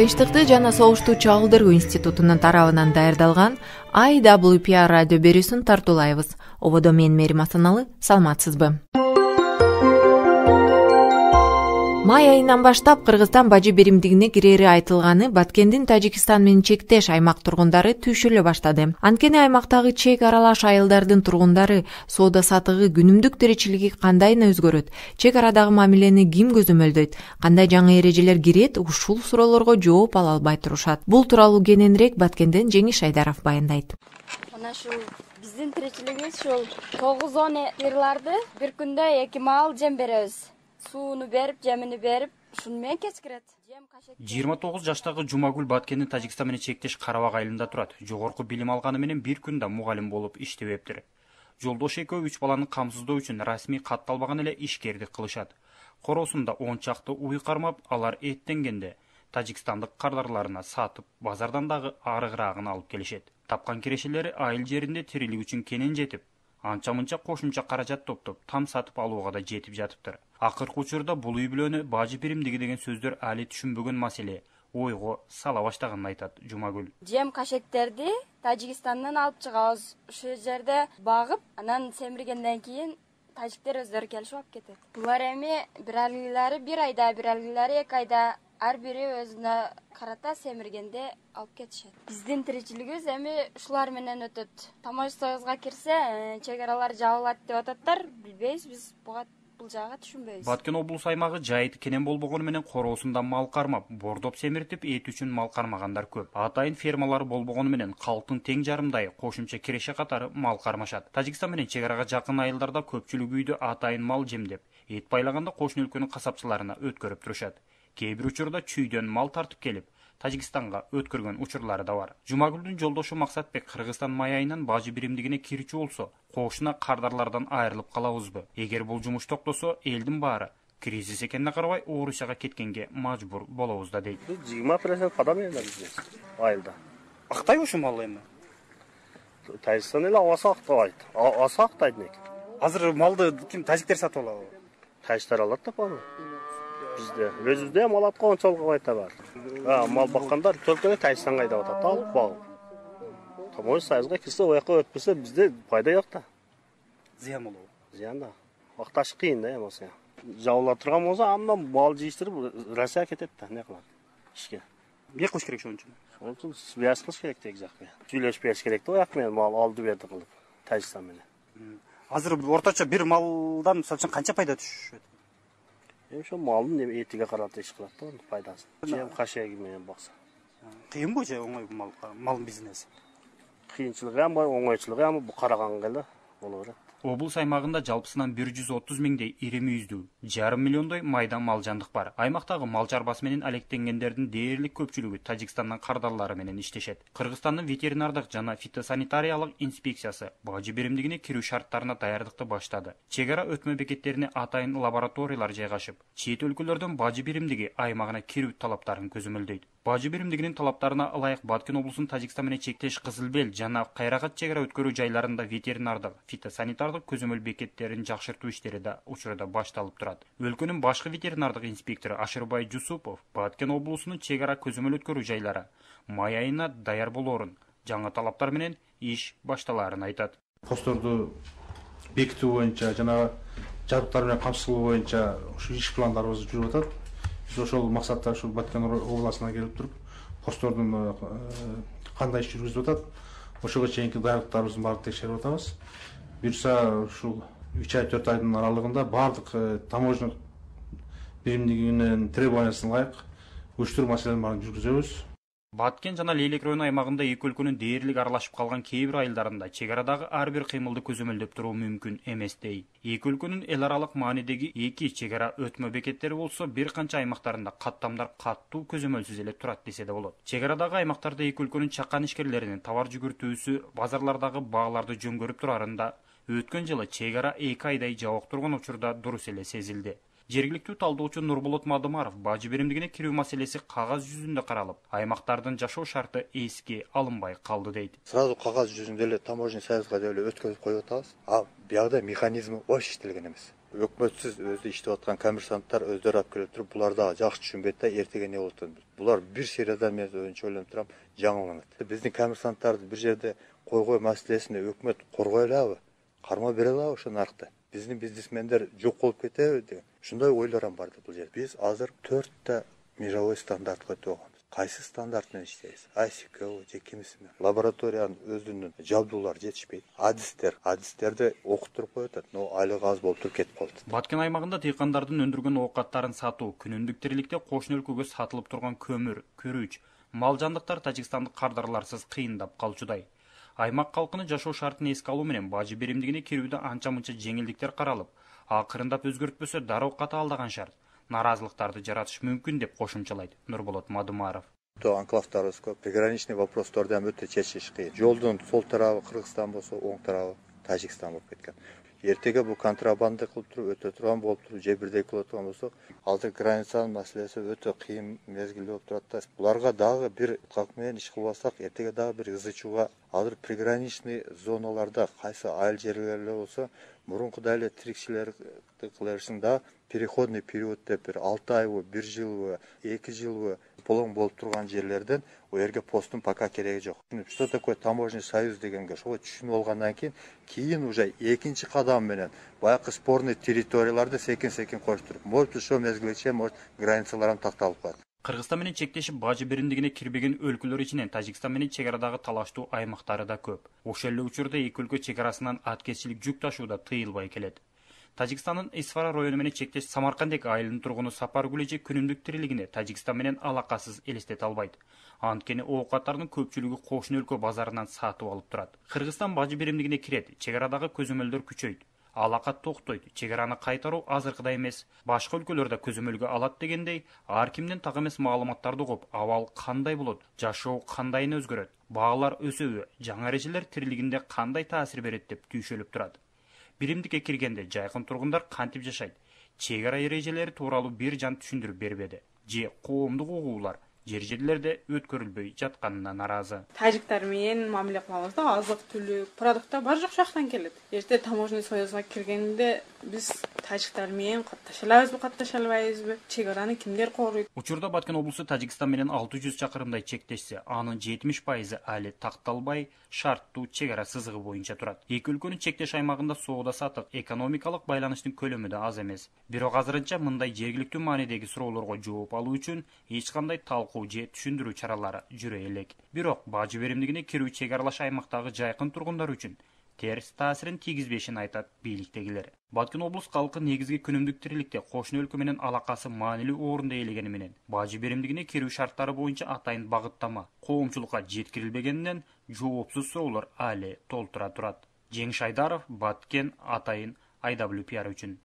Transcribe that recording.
Тынчтыкты жана согушту чагылдыруу институтунун тарабынан даярдалган IWPR радио берүүсүн тартуулайбыз. Ободо мен Мерим Асаналы, саламатсызбы? Май айынан баштап Кыргызстан бажы биримдигине кирери айтылганы Баткендин Тажикстан менен чектеш аймак тургундары түйшүлө баштады. Анткени аймактагы чек аралаш айылдардын тургундары соода сатыгы, күнүмдүк тиричилиги кандайына өзгөрөт, чек арадагы мамилени ким көзөмөлдөйт, кандай жаңы эрежелер кирет, ушул суроолорго жооп ала албай турушат. Бул тууралуу кененирээк Баткенден Жеңиш Айдаров баяндайт. Мына ушул биздин тиричилигибиз ушул 9-10 ырларды бир күндө 2 маал жем беребиз. Сууну берип, жемини берип, ушуну менен кечкирет. 29 жаштагы Жумагүл Баткендин Тажикстан менен чектеш Карабак айылында турат. Жогорку билим алганы менен бир күндө мугалим болуп иштебептир. Жолдошу экөө 3 баланы камсыздоо үчүн расмий катталбаган эле ишкердик кылышат. Коросунда 10 чакты уй кармап, алар эттенгенде тажикстандык кардарларына сатып, базардан дагы арыгыраагын алып келишет. Тапкан кирешелери айыл жеринде тирилик үчүн кенен жетип, анча-мынча кошумча каражат топтоп, там сатып алууга да жетип жатыптыр. Акыркы учурда бул үй бүлөнү бажы биримдиги деген сөздөр али түшүнбөгөн маселе ойго сала баштаганын айтат Жумагүл. Жем кашектерди Тажикстандан алып чыгабыз. Ушул жерде багып, анан семиргенден кийин тажиктер өздөрү келип алып кетет. Булар эми бир алгылары 1 айда, бир алгылары 2 айда ар бири өзүнө карата семиргенде алып кетишет. Биздин тиричилигибиз эми ушулар менен өтөт. Тамош союзга кирсе, чек аралар жабылат деп ататтар. Билбейбиз, биз бул жагы түшүнбөйбүз. Баткен облус аймагы жайыты кенен болбогону менен короосунда мал кармап, бордоп семиртип, эт үчүн мал кармагандар көп. Атайын фермалары болбогону менен калктын тең жарымдай кошумча киреше катары мал кармашат. Тажикстан менен чек арага жакын айылдарда көпчүлүк үйдө атайын мал жемдеп, эт байлаганда кошуна өлкөнүн касапчыларына өткөрүп турушат. Кээ бир учурда чүйдөн мал тартып келип, Тажикстанга өткөргөн учурлары да бар. Жумагүлдүн жолдошу Максатбек Кыргызстан май айынан бажы биримдигине кирчү болсо, кошуна кардарлардан айрылып калабызбы? Эгер бул жумуш токтосо, элдин баары кризис экенине карабай Орусияга кеткенге мажбур болобуз да дейт. 20% падам эле биз айылда. Актайбы ушул мал эми? Тажикстан эле авасы актабайт. Аса актайт экен. Азыр малды ким тажиктер сатып алабы? Тажиктер алат да баны. Бизде өзүбүздө мал аткан ончолук байта бар. Мал баккандар төлкөнө Тажикстанга айдап атат, алып багып. Тамош союзга кирсе, ояка өтпөсө бизде пайда жок да. Зыян болобу? Зыян да. Акташ кыйын да эмесе. Жабыла турган болсо, андан мал жыйыштырып Россияга кетет да, не кылат? Ишке. Эмне кылыш керек ошон үчүн? Ошон үчүн связь кылыш керек тег жак менен. Сүйлөшүп бериш керек да, ояк менен мал алды берди кылып, Тажикстан менен. Азыр орточо бир малдан мисалы үчүн канча пайда түшөт? Ошо малдын этиге карата иш кылат да, пайдасын. Жем кашеги менен бакса. Кыйынбы же оңой мал бизнеси? Кыйынчылыгы бар, оңойчулугу бар, бу караганга эле боло берет. Облус аймагында жалпысынан 130 миңдей ири мүйүздүү, 1,5 миллиондой майда мал жандык бар. Аймактагы мал чарбасы менен алектенгендердин дээрлик көпчүлүгү Тажикстандан кардарлары менен иштешет. Кыргызстандын ветеринардык жана фитосанитариялык инспекциясы бажы биримдигине кирүү шарттарына даярдыкты баштады. Чек ара өтмө бекеттерине атайын лабораториялар жайгашып, чет өлкөлөрдөн бажы биримдиги аймагына кирүү талаптарын көзөмөлдөйт. Бажы биримдигинин талаптарына ылайык Баткен облусунун Тажикстан менен чектеш Кызылбел жана Кайрагат чек ара өткөрүү жайларында ветеринардык, фитосанитардык көзөмөл бекеттерин жакшыртуу иштери да учурда башталып турат. Өлкөнүн башкы ветеринардык инспектору Ашырбай Жусупов Баткен облусунун чек ара көзөмөл өткөрүү жайлары май айына даяр болоорун, жаңы талаптар менен иш башталаарын айтат. Посторду бекитүү боюнча жана жабдыктар менен камсыздоо боюнча ушу иш пландарыбыз жүрүп атат. Биз ошол максатта ушул Баткен областына келип туруп, постордун кандай иш жүргүзүп атат, ошого чейинки даярдыктарыбыздын баарын текшерип атабыз. Буюрса ушул 3 ай 4 айдын аралыгында баардык таможня биримдигинин требованиясына ылайык уюштуруу маселелерин баарын жүргүзөбүз. Баткен жана Лейлек району аймагында эки өлкөнүн дээрлик аралашып калган кээ бир айылдарында чек арадагы ар бир кыймылды көзөмөлдөп туруу мүмкүн эмес дей. Эки өлкөнүн эл аралык маанидеги эки чек ара өтмө бекеттери болсо бир канча аймактарында каттамдар каттуу көзөмөлсүз эле турат десе да болот. Чек арадагы аймактарда эки өлкөнүн чакан ишкерлеринин товар жүгүртүүсү базарлардагы бааларды жөнгөрүп турарында өткөн жылы чек ара 2 айдай жабык турган учурда дурус эле сезилди. Жергиликтүү талдоочу Нурболот Мадымаров бажы биримдигине кирүү маселеси кагаз жүзүндө каралып, аймактардын жашоо шарты эске алынбай калды дейт. Сразу кагаз жүзүндө эле таможня союзга эле өткөзүп коюп атабыз. А биягда механизми бош иштелген эмес. өкмөтсүз өзү иштеп аткан коммерсанттар өздөрү алып келип туруп, булар дагы жакшы түшүнбөйт да, эртеге эмне болот экен. Булар бир сериядан мен өзүнчө ойлонуп турам, жаңыланат. Биздин коммерсанттарды бир жерде койгой маселесине өкмөт коргой алабы, карма бере алабы ошо наркты? Биздин бизнесмендер жок болуп кетеби деген. Ушундай ойлорам бар да бул жерде. Биз азыр 4 мировой стандарт коюп койгонбуз. Кайсы стандарт менен иштейбиз? ICQ же кимисимен? Лабораториянын өзүнүн жабдуулары жетишпейт. Адистерди окуттуруп коюп атат, но айлыгы аз болуп туруп кетип калат. Баткен аймагында дыйкандардын өндүргөн оокаттарын сатуу, күнүмдүк тириликте кошуна өлкөгө сатылып турган көмүр, күрүч, мал жандыктар тажикстандык кардарларсыз кыйындап калчудай. Аймак калкынын жашоо шартын эске алуу менен бажы беримдигине кирүүдө анча-мынча жеңилдиктер каралып, акырындап өзгөртпөсө дароо катаалдаган шарт наразылыктарды жаратышы мүмкүн деп кошумчалайт Нурболот Мадумаров. Анклавдарыбыз көп, приграничный вопростарды ham өтө чечиш кыйын. Жолдун сол тарабы Кыргызстан болсо, оң тарабы Тажикстан болуп кеткен. Эртеге бул контрабанда кылып туруп өтө турган болуп туруп, же бирдей кылып турган болсок, азыр границанын маселеси өтө кыйын мезгилде болуп турат да. Буларга дагы бир как менен иш кылбасак, эртеге дагы бир ызычууга, азыр приграничный зоналарда кайсы айыл жерлерде болсо, мурункудай эле тирикчилерди кылышың да, переходный период деп бир 6 айбы, 1 жылбы, 2 жылбы полон болуп турган жерлерден у жерге посттун пока кереги жок. Что такое таможенный союз дегенге ошого түшүнүп алгандан кийин уже экинчи кадам менен баягы спорный территорияларды секин коштуруп, может ошо мезгилче может границалар ham такталып калат. Кыргызстан менен чектешип бажы беримдигине кирбеген өлкөлөр ичинен Тажикстан менен чек арадагы талаштуу аймактары да көп. Ошол эле учурда эки өлкө чек арасынан аткезчилик жүк ташууда тыйылбай келет. Тажикстандын Исфара району менен чектеш Самаркандек айылынын тургуну Сапаргүл эже күнүмдүк тирилигине Тажикстан менен алакасыз элестете албайт. Анткени оокаттардын көпчүлүгү кошуна өлкө базарынан сатып алып турат. Кыргызстан бажы беримдигине кирет, чек арадагы көзөмөлдөр күчөйт. Алакат токтойт, чек араны кайтаруу азыркыдай эмес. Башка өлкөлөрдө көзөмөлгө алат дегендей, ар кимдин так эмес маалыматтарды угуп, абал кандай болот, жашоо кандайын өзгөрөт, баалар өсөбү, жаңы эрежелер тирилигинде кандай таасир берет деп түйшөлүп турат. Биримдикке киргенде жайкын тургундар кантип жашайт? Чек ара эрежелери тууралуу бир жан түшүндүрүп бербеди. Же коомдук угуулар жер жерлерде өткөрүлбөй жатканына наразы. Тажиктар менен мамиле кылабыз да, азык түлүк, продукттар баары жок жактан келет. Эрте таможенный союзга киргенде биз тажиктар менен катташа алабызбы, катташа албайбызбы? Чек араны кимдер корuyт? Учурда Баткен облусу Тажикстан менен 600 чакырымдай чектешсе, анын 70% али такталбай шарттуу чек ара сызыгы боюнча турат. Эки өлкөнүн чектеш аймагында соода сатык, экономикалык байланыштын көлөмү да аз эмес. Бирок азырынча мындай жергиликтүү маанидеги суроолорго жооп алуу үчүн эч кандай талкуу же түшүндүрүү чаралары жүрө элек. Бирок бажы беримдигине кирүү чек аралаш аймактагы жайкын тургундар үчүн терс таасирин тийгизбешин айтат бийликтегилер. Баткен облус калкы негизги күнүмдүк тириликте кошуна өлкө менен алакасы маанилүү орунду ээлегени менен бажы беримдигине кирүү шарттары боюнча атайын багыттама коомчулукка жеткирилбегенинен жоопсуз суроолор али толтура турат. Жеңиш Айдаров, Баткен, Атайын, IWPR үчүн.